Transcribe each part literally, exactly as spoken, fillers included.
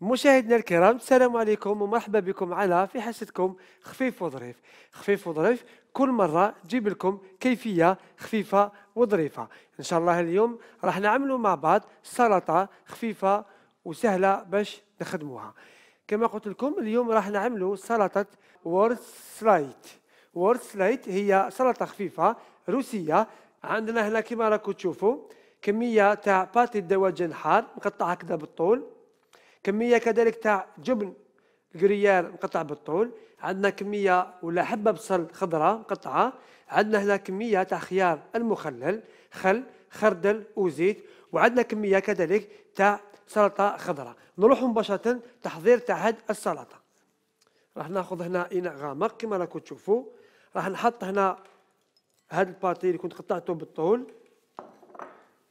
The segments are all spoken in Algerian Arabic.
مشاهدينا الكرام، السلام عليكم ومرحبا بكم على في حصتكم خفيف وظريف. خفيف وظريف كل مرة تجيب لكم كيفية خفيفة وظريفة. إن شاء الله اليوم راح نعملوا مع بعض سلطة خفيفة وسهلة باش نخدموها. كما قلت لكم اليوم راح نعملوا سلطة وورتسلايت. وورتسلايت هي سلطة خفيفة روسية. عندنا هنا كما راكم تشوفوا كمية تاع باتي دواجن حار مقطعة كذا بالطول، كمية كذلك تاع جبن الجريار مقطع بالطول، عندنا كمية ولا حبة بصل خضراء مقطعة، عندنا هنا كمية تاع خيار المخلل، خل، خردل وزيت، وعندنا كمية كذلك تاع سلطة خضراء. نروح مباشرة تحضير تاع هاد السلطة. راح ناخذ هنا إناء غامق كما راكم تشوفوا، راح نحط هنا هاد الباتي اللي كنت قطعته بالطول،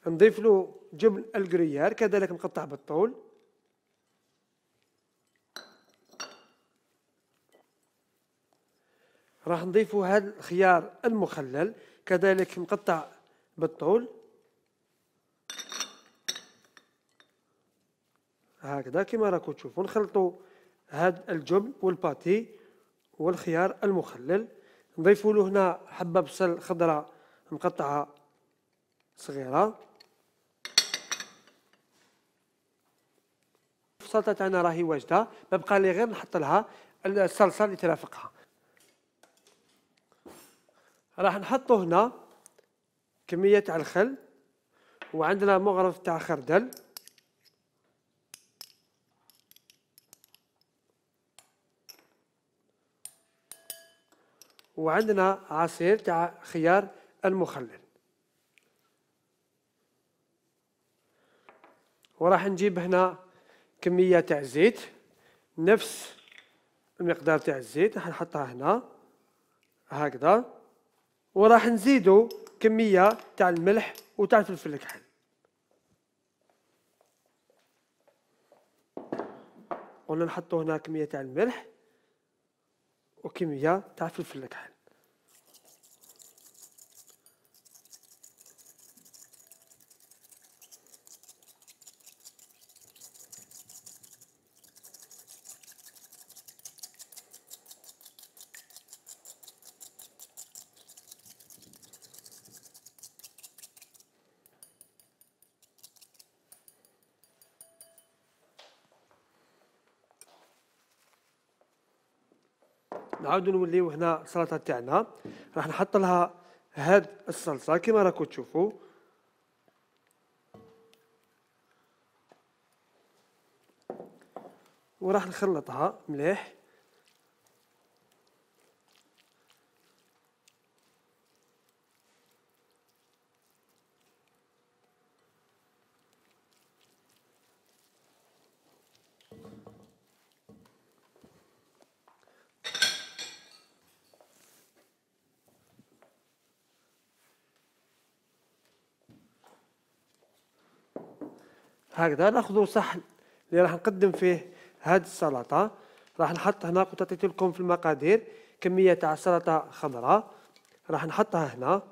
نضيف له جبن الجريار كذلك مقطع بالطول، راح نضيفوا هذا الخيار المخلل كذلك مقطع بالطول هكذا كما راكم تشوفوا. نخلطوا هذا الجبن والباتي والخيار المخلل، نضيفوا له هنا حبة بصل خضراء مقطعة صغيرة. السلطة تاعنا راهي واجدة، ما بقى لي غير نحط لها الصلصة اللي ترافقها. راح نحطوا هنا كمية تاع الخل، وعندنا مغرف تاع خردل، وعندنا عصير تاع خيار المخلل، وراح نجيب هنا كمية تاع زيت نفس المقدار تاع الزيت راح نحطها هنا هكذا، وراح نزيدو كمية تاع الملح وتاع الفلفل الكحل. قلنا نحطو هنا كمية تاع الملح وكمية تاع الفلفل الكحل. نعاودو نوليو هنا السلطة تاعنا، راح نحط لها هاد الصلصة كما راكم تشوفوا، وراح نخلطها مليح. هكذا ناخذ صحن اللي راح نقدم فيه هاد السلطة. راح نحط هنا كنت عطيت لكم في المقادير كمية تاع سلطة خضراء، راح نحطها هنا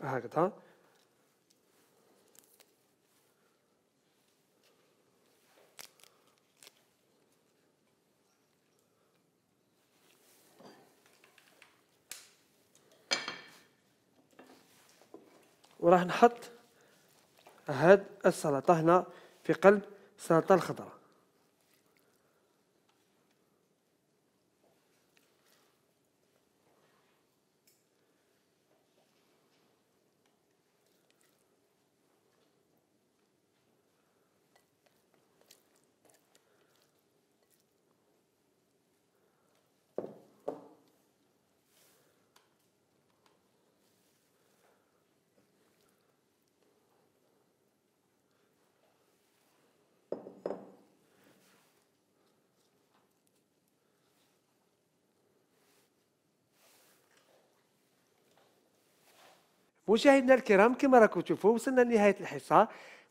هكذا، وراح نحط هاد السلطة هنا في قلب السلطة الخضراء. مشاهدينا الكرام كما راكم تشوفوا وصلنا لنهاية الحصة.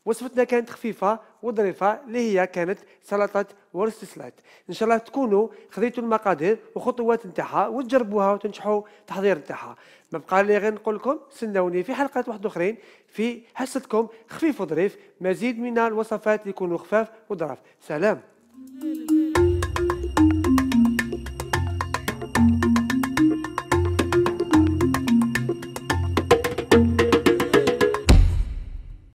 وصفتنا كانت خفيفه وظريفه اللي هي كانت سلطه ورستسلات. ان شاء الله تكونوا خذيتوا المقادير وخطوات نتاعها وتجربوها وتنجحوا التحضير نتاعها. ما بقى لي غير نقول لكم استناوني في حلقات واحد اخرين في حصتكم خفيف وظريف، مزيد من الوصفات اللي يكونوا خفاف وظراف. سلام.